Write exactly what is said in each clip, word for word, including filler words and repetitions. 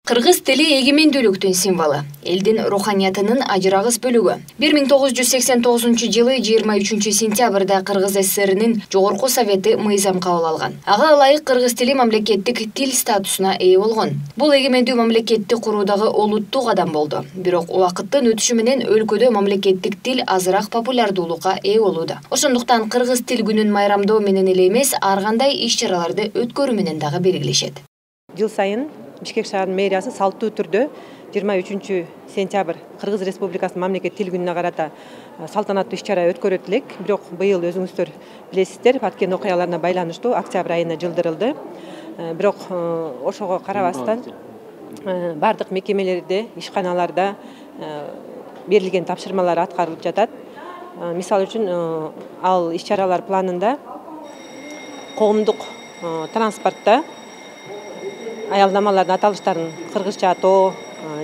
Кыргыз тили эгемендүүлүктүн символу, элдин руханиятынын ажырагыс бөлүгү. бир миң тогуз жүз сексен тогузунчу жылы жыйырма үчүнчү сентябрда Кыргыз ССРнин Жогорку Совети мыйзам кабыл алган. Ага ылайык кыргыз тили мамлекеттик тил статусуна ээ болгон. Бул эгемендүү мамлекетти куруудагы олуттуу кадам болду. Бирок убакыттын өтүшү менен өлкөдө мамлекеттик тил азыраак популярдуулукка ээ болууда. Ошондуктан кыргыз тил күнүн майрамдоо менен эле эмес, ар кандай иш-чараларды өткөрүү менен дагы белгилешет. Жыл сайын Бишкек шаарынын мэриясы салттуу түрдө жыйырма үчүнчү сентябрь Кыргыз Республикасынын мамлекет тил күнүнө карата салтанаттуу иш-чара өткөрөт элек. Бирок быйыл өзүңүздөр билесиздер, өткөн окуяларына байланыштуу октябрь айына жылдырылды. Бирок ошого карабастан бардык мекемелерде, ишканаларда берилген тапшырмалар аткарылып жатат. Мисалы үчүн ал иш-чаралар планында коомдук транспортто аялдамалардын аталыштарын кыргызча атоо,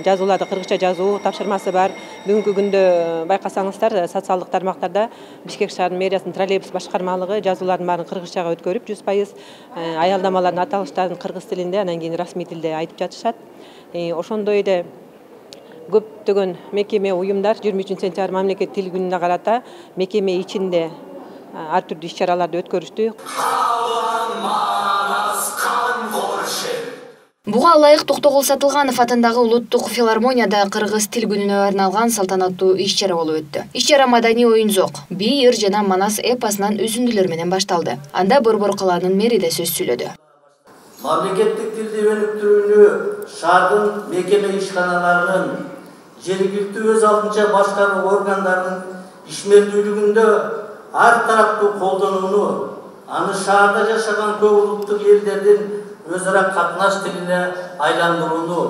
жазууларды кыргызча жазуу тапшырмасы бар. Бүгүнкү күндө байкасаңыздар, социалдык тармактарда Бишкек шаарынын мэриясынын троллейбус башкармалыгы жазуулардын баарын кыргызчага өткөрүп, жүз пайыз аялдамалардын аталыштарын кыргыз тилинде, анан кийин расмий тилде айтып жатышат. Ошондой эле көптөгөн мекеме, уюмдар жыйырма үчүнчү сентябрь мамлекет тил күнүнө карата мекеме ичинде ар түрдүү иш-чараларды өткөрүштү. Буга ылайык Токтогул Сатылганов атындагы улуттук филармонияда кыргыз тил күнүнө арналган салтанаттуу иш-чара болуп өттү. Иш-чара маданий оюн-зок, бий, ыр жана манас эпосунан үзүндүлөр менен башталды. Анда Борбор калаанын мэри да сөз сүйлөдү. Мамлекеттик тилди өнүктүрүүнү шаардын мекеме ишканаларынын жергиликтүү өз алдынча башкаруу органдарынын ишмердүүлүгүндө ар тараптуу колдонууну, аны шаарда жашаган көп улуттук элдердин өз ара катнаш тилине айландырууну,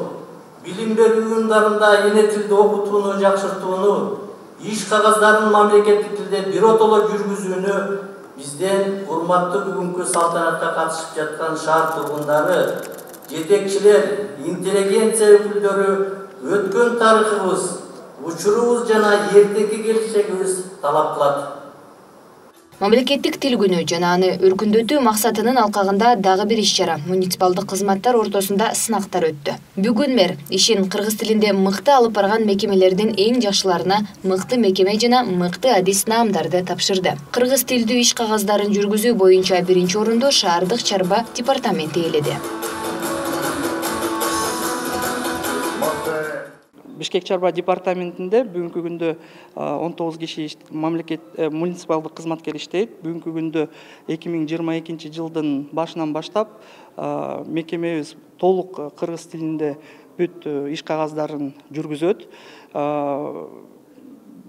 билим берүү уюмдарында эне тилде окутууну жакшыртууну, иш кагаздарын мамлекеттик тилде биротоло жүргүзүүнү бизден урматтуу бүгүнкү салтанатка катышып жаткан шаар тургундары, жетекчилер, интеллигенция өкүлдөрү өткөн тарыхыбыз, учурубуз жана эртеки келечегибиз талап кылат. Мамлекеттик тил күнү жана аны өркүндөтүү максатынын алкагында дагы бир иш-чара муниципалдык кызматтар ортосунда сынактар өттү. Бүгүн мэр ишин кыргыз тилинде мыкты алып барган мекемелердин эң жакшыларына мыкты мекеме жана мыкты адис наамдарды тапшырды. Кыргыз тилдүү иш кагаздарын жүргүзүү боюнча биринчи орунду шаардык чарба департаменти ээледи. Бишкек чарба департаментинде бүгүнкү күндө он тогуз киши мамлекет муниципалдык кызматкер иштейт. Бүгүнкү күндө эки миң жыйырма экинчи жылдын башынан баштап мекемебиз толук кыргыз тилинде бүт иш кагаздарын жүргүзөт.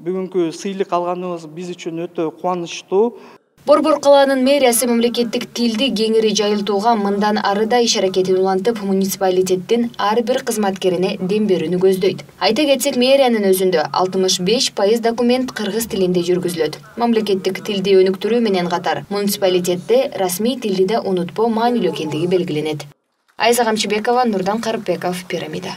Бүгүнкү сыйлык алганыбыз биз үчүн өтө кубанычтуу. Борбор калаанын мэриясы мамлекеттик тилди кеңири жайылтууга мындан ары да иш аракетин улантып, муниципалитеттин ар бир кызматкерине дем берүүнү көздөйт. Айта кетсек, мэриянын өзүндө алтымыш беш пайыз документ кыргыз тилинде жүргүзүлөт. Мамлекеттик тилди өнүктүрүү менен катар, муниципалитетте расмий тилди да унутпоо маанилүү экендиги белгиленет. Айза Камчыбекова, Нурдан Карыпбеков, Пирамида.